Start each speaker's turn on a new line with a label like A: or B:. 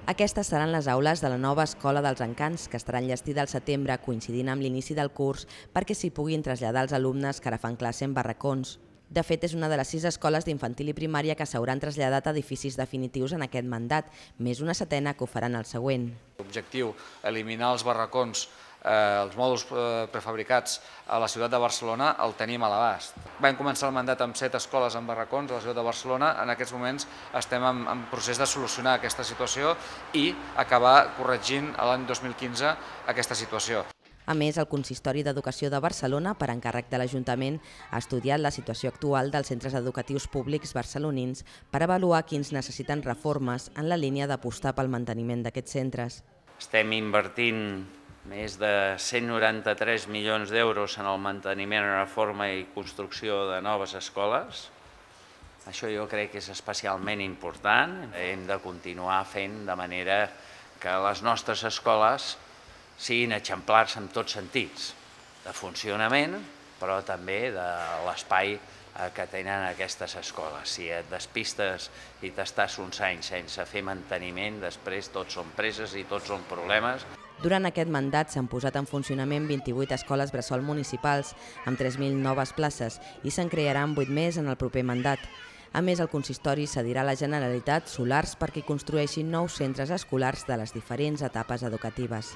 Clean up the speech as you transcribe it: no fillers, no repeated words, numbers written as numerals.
A: Aquestes seran les aules de la nova Escola dels Encants, que estarà enllestida al setembre, coincidint amb l'inici del curs, perquè s'hi puguin traslladar els alumnes que ara fan classe en barracons. De fet, és una de les 6 escoles d'infantil i primària que s'hauran traslladat a edificis definitius en aquest mandat, més una setena que ho faran el següent.
B: L'objectiu, eliminar els barracons, els mòduls prefabricats a la ciutat de Barcelona, el tenim a l'abast. Vam començar el mandat amb 7 escoles en barracons a la ciutat de Barcelona. En aquests moments estem en procés de solucionar aquesta situació i acabar corregint l'any 2015 aquesta situació.
A: A més, el Consistori d'Educació de Barcelona, per encàrrec de l'Ajuntament, ha estudiat la situació actual dels centres educatius públics barcelonins per avaluar quins necessiten reformes en la línia d'apostar pel manteniment d'aquests centres.
C: Estem invertint més de 193 milions d'euros en el manteniment, reforma i construcció de noves escoles. Això jo crec que és especialment important. Hem de continuar fent de manera que les nostres escoles siguin exemplars en tots sentits, de funcionament, però també de l'espai que tenen aquestes escoles. Si et despistes i t'estàs uns anys sense fer manteniment, després tots són preses i tots són problemes.
A: Durant aquest mandat s'han posat en funcionament 28 escoles bressol municipals, amb 3.000 noves places, i se'n crearan 8 més en el proper mandat. A més, el consistori cedirà a la Generalitat solars perquè construeixin nous centres escolars de les diferents etapes educatives.